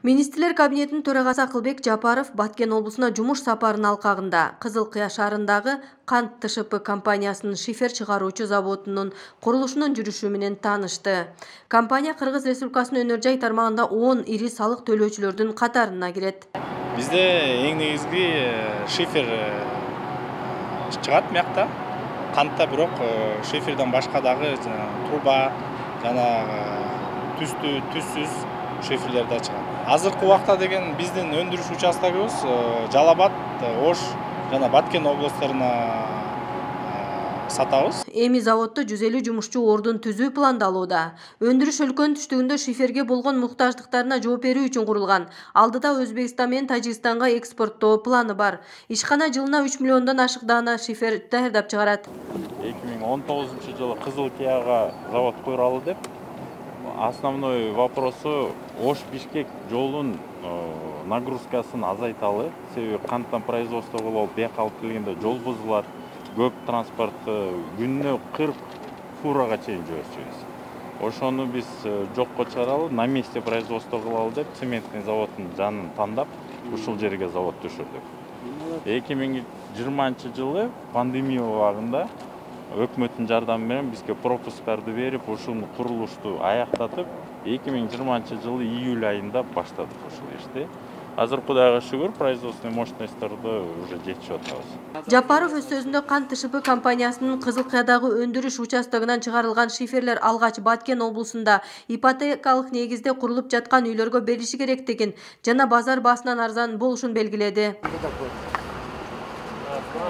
Министрлер кабинетинин төрагасы Акылбек Жапаров Баткен облусуна жумуш сапарынын алкагында Кызыл Кыя шаарындагы Кант ТШП компаниясынын шифер чыгаруучу заводунун курулушунун жүрүшү менен таанышты. Компания Кыргыз Республикасынын өнөр жай тармагында 10 ири салык төлөөчүлөрдүн катарына кирет. Бизде эң негизги шифер чыгат мякта. Кантта бирок шиферден башка дагы труба жана түзсүз шиферлер да чыгат. Азыркы убакта деген биздин өндүрүш участогубуз Жалал Абад, Ош жана Баткен областарына сатабыз. Эми заводдо 150 жумушчу ордун түзүү пландалууда. Өндүрүш өлкөнүн түштүгүндө шиферге болгон муктаждыктарына жооп берүү үчүн курулган. Алдыда Өзбекстан менен Тажикстанга экспорттоо планы бар. Ишкана жылына 3 миллиондон ашык даана шифер даярдап чыгарат. 2019-жылы Кызыл Кыяга завод куралы деп основной вопросу Ош-Бишкек жолун нагрузкасын азайталы. Себеби канттан производство кылып бияка алып келгенде жол бузулат, көп транспорт күнүнө 40 фурага чейин жиберчүбүз. Ошону биз жокко чыгаралы, на месте производство кылалы деп цементный заводдун жанын тандап, ушул жерге завод түшүрдүк. 2020-жылы пандемия убагында өкмөттүн жардамы менен бизге пропускарды берип, ушул курулушту аяктатып, 2020-жылы июль айында баштадык ушул ишти. Азыр Кудайга шүгүр, производственный мощностьторду уже жетишип атабыз. Жапаров өз сөзүндө Кант ТШП компаниясынын Кызыл Кыядагы өндүрүш участогунан чыгарылган шиферлер алгач Баткен облусунда ипотекалык негизде курулуп жаткан үйлөргө берилиши керектигин жана базар баасынан арзан болушун белгиледи.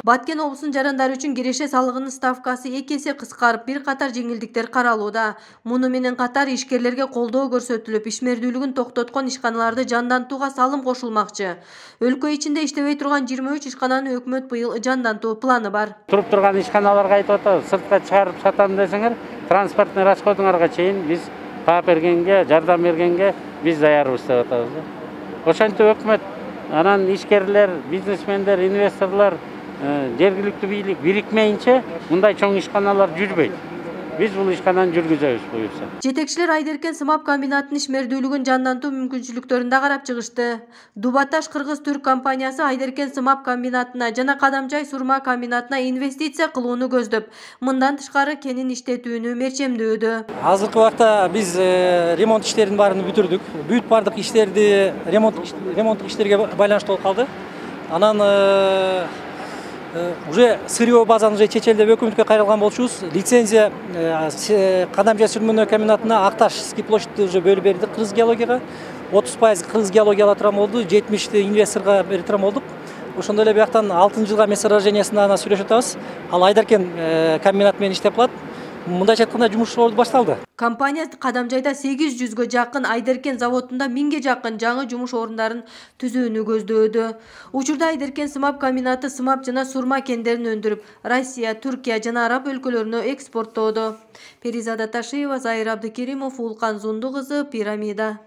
Баткен облусунун жарандары үчүн киреше салыгынын ставкасы 2 эсе кыскарып, бир катар жеңилдиктер каралууда. Муну менен катар ишкерлерге колдоо көрсөтүлүп, ишмердүүлүгүн токтоткон ишканаларды жандантууга салым кошулмакчы. Өлкө ичинде иштебей турган 23 ишкананы өкмөт быйыл жандантуу планы бар. Туруп турган ишканаларга айтып атабыз, сыртка чыгарып сатам десеңер, транспортный расходуңарга чейин биз таап бергенге, жардам бергенге биз даярбыз деп атабыз. Ошентип өкмөт, анан ишкерлер, бизнесмендер, инвесторлор жергиликтүү бийлик бирикмейинче мындай чоң ишканалар жүрбөйт. Биз бул ишкананы жүргүзөбүз буюрса. Жетекчилер Айдеркен сымап комбинатынын ишмердүүлүгүн жандантуу мүмкүнчүлүктөрүн да карап чыгышты. Дубаташ Кыргыз-Түрк компаниясы Айдеркен сымап комбинатына жана Кадамжай сурма комбинатына инвестиция кылууну көздөп, мындан тышкары кенин иштетүүнү мерчемдөөдө. Азыркы убакта биз ремонт иштерин баарын бүтүрдүк. Бүт бардык иштерди ремонттук иштерге байланыштуу болуп калды. Анан уже сырье базаны уже чечелдеп өкмөткө кайрылган болчубуз. Лицензия Кадамжай сүрмө комбинатына Акташский площадьты уже бөлүп бердик Кыргыз геологияга. 30% Кыргыз геология ала турган болду, 70 инвесторго бере турган болдук. Ошондой эле бияктан 6-жылга месторождениясына сүйлөшүп атабыз. Ал Айдеркен комбинат менен иштеп калат. Мындайча айтканда жумуш башталды. Компания Кадамжайда 800гө жакын, Айдеркен заводунда 1000ге жакын жаңы жумуш орундарын түзүүнү көздөөдө. Учурда Айдеркен сымап комбинаты сымап жана сурма кендерин өндүрүп, Россия, Түркия жана Араб өлкөлөрүнө экспорттоодо. Перизада Ташиева, Зайыр Абдыкеримов, Улкан Зунду кызы, Пирамида.